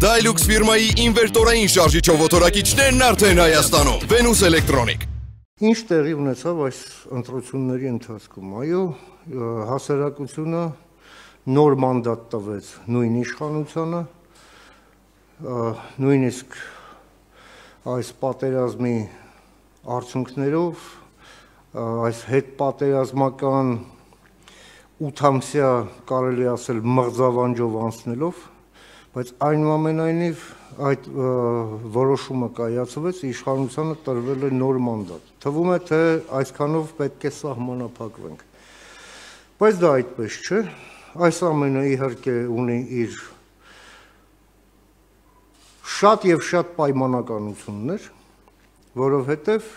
Dilux ֆիրմայի ինվերտորային շարժիչով օտորակիչներն արդեն Հայաստանում։ Venus Electronic։ Ինչ տեղի ունեցավ այս ընտրությունների ընթացքում։ Այո, հասարակությունը նոր մանդատ տվեց նույն իշխանությանը, նույնիսկ այս պատերազմի արդյունքներով, այս հետպատերազմական 8-ամսյա կարելի ասել մղձավանջով անցնելով, բայց այնուամենայնիվ այդ որոշումը կայացվեց, իշխանությանը տրվել է նոր մանդատ։ Թվում է, թե այսքանով պետք է սահմանափակվենք։ Բայց դա այդպես չէ, այս ամենը իհարկե ունի իր շատ եւ շատ պայմանականություններ, որովհետեւ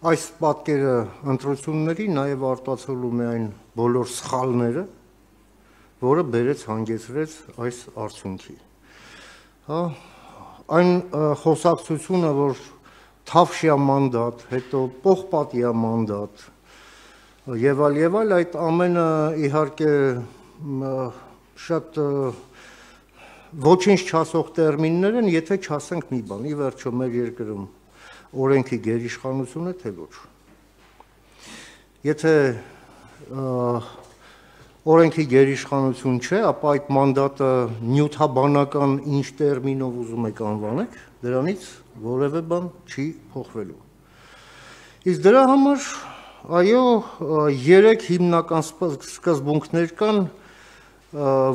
այս պատկերը ընտրությունների նաեւ արտացոլում է այն բոլոր սխալները, որը բերեց հանգեցրեց այս արդյունքի։ Այն խոսակցությունը, որ թավշյա մանդատ, հետո պողպատյա մանդատ եւ այլ, այդ ամենը իհարկե շատ ոչինչ չասող տերմիններ են, եթե չասենք մի բան, ի վերջո մեր երկրում օրենքի գերիշխանություն է, թե ոչ։ Եթե օրենքի գերիշխանություն չէ, ապա այդ մանդատը նյութաբանական ինչ տերմինով ուզում եք անվանեք, դրանից որևէ բան չի փոխվելու։ Իսկ դրա համար, այո, 3 հիմնական սկզբունքներ կան,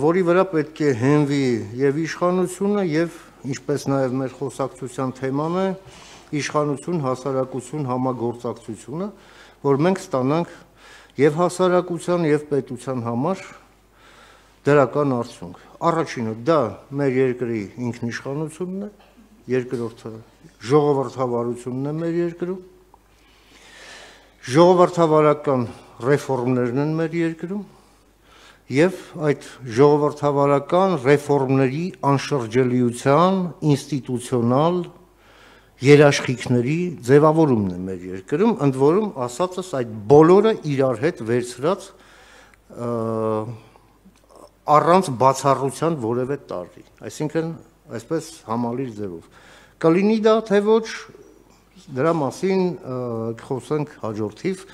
որի վրա պետք է հենվի եւ իշխանությունը եւ ինչպես նաեւ մեր խոսակցության թեման է իշխանություն, հասարակություն, համագործակցությունը, որ մենք ստանանք եւ հասարակության եւ պետության համար դրական արդյունք։ Առաջինը դա մեր երկրի ինքնիշխանությունն է, երկրորդը ժողովրդավարությունն է մեր երկրում, ժողովրդավարական ռեֆորմներն են մեր երկրում եւ այդ ժողովրդավարական ռեֆորմների անշրջելիության ինստիտուցիոնալ երաշխիքների ձևավորումն է մեր երկրում, ընդ որում ասածս այդ բոլորը իրար հետ վերցրած առանց բացառության որևէ տարրի, այսինքն այսպես համալիր ձևով։ Կլինի դա թե ոչ, դրա մասին կխոսենք հաջորդիվ